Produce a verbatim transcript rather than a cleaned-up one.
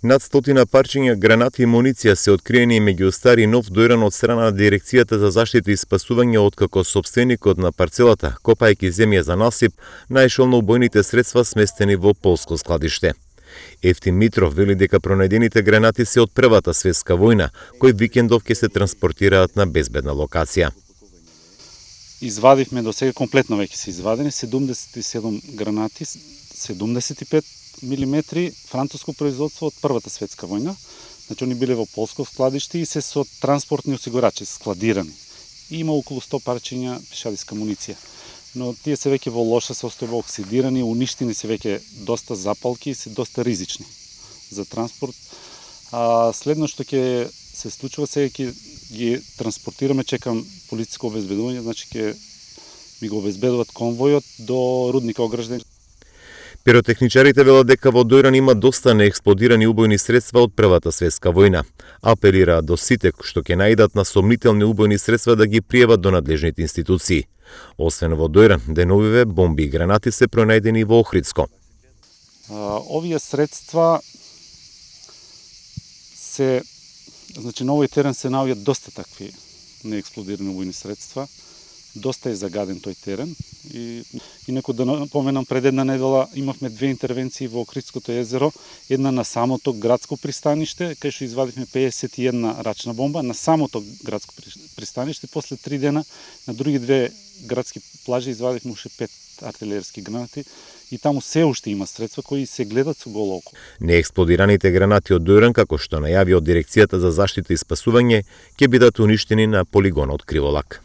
Над стотина парчиња гранати и муниција се откриени меѓу стари и нов дојран од страна на Дирекцијата за заштита и спасување, откако сопственикот на парцелата, копајќи земја за насип, најшол на убојните средства сместени во полско складиште. Евтим Митров вели дека пронајдените гранати се од Првата светска војна, кои викендов ќе се транспортираат на безбедна локација. Извадивме до сега комплетно веќе се извадени седумдесет и седум гранати, седумдесет и пет милиметри француско производство од Првата светска војна. Значи они биле во полско складиште и се со транспортни осигурачи складирани. И има околу сто парчиња пешадиска муниција. Но тие се веќе во лоша состојба, оксидирани, уништени се веќе доста запалки и се доста ризични за транспорт. А следно што ќе се случува сега ќе ги транспортираме, чекам полициско обезбедување, значи ќе ми го обезбедуваат конвојот до рудника Огражден. Пиротехничарите велат дека во дојран има доста неексплодирани убојни средства од Првата светска војна. Апелираат до сите што ќе наидат на сомнителни убојни средства да ги пријават до надлежните институции. Освен во дојран, деновиве бомби и гранати се пронајдени во Охридско. А, овие средства се, значи на овој терен се наоѓаат доста такви неексплодирани убојни средства. Доста е загаден тој терен и инаку да напоменам, пред една недела имавме две интервенции во Охридското езеро, една на самото градско пристаниште, кај што извадивме педесет и една рачна бомба на самото градско пристаниште, после три дена на други две градски плажи извадивме уште пет артилерски гранати и таму се уште има средства кои се гледат со голо око. Неексплодираните гранати од дојран, како што најави од Дирекцијата за заштита и спасување, ќе бидат уништени на полигонот Криволак.